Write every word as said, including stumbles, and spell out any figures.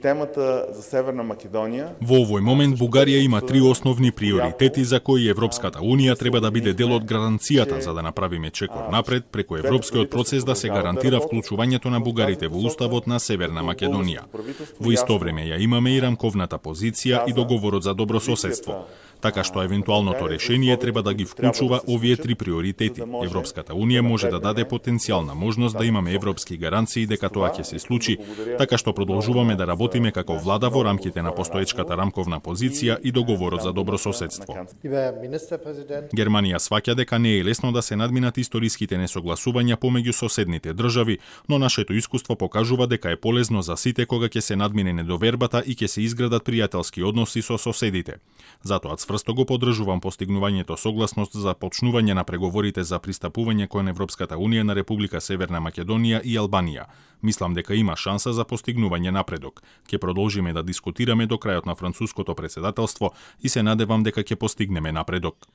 Темата за Северна Македонија. Во овој момент Бугарија има три основни приоритети за кои Европската Унија треба да биде дел од гаранцијата за да направиме чекор напред преку европскиот процес да се гарантира вклучувањето на бугарите во уставот на Северна Македонија. Во исто време ја имаме и рамковната позиција и договорот за добрососедство. Така што евентуалното решение треба да ги вклучува овие три приоритети. Европската Унија може да даде потенцијална можност да имаме европски гаранции дека тоа ќе се случи, така што продолжуваме да работиме како влада во рамките на постоечката рамковна позиција и договорот за добрососедство. Германија сваќа дека не е лесно да се надминат историските несогласувања помеѓу соседните држави, но нашето искуство покажува дека е полезно за сите кога ќе се надмине недовербата и ќе се изградат пријателски односи со соседите. Затоа цврсто го поддржувам постигнувањето согласност за почнување на преговорите за пристапување кон Европската Унија на Република Северна Македонија и Албанија. Мислам дека има шанса за постигнување напредок. Ќе продолжиме да дискутираме до крајот на француското претседателство и се надевам дека ќе постигнеме напредок.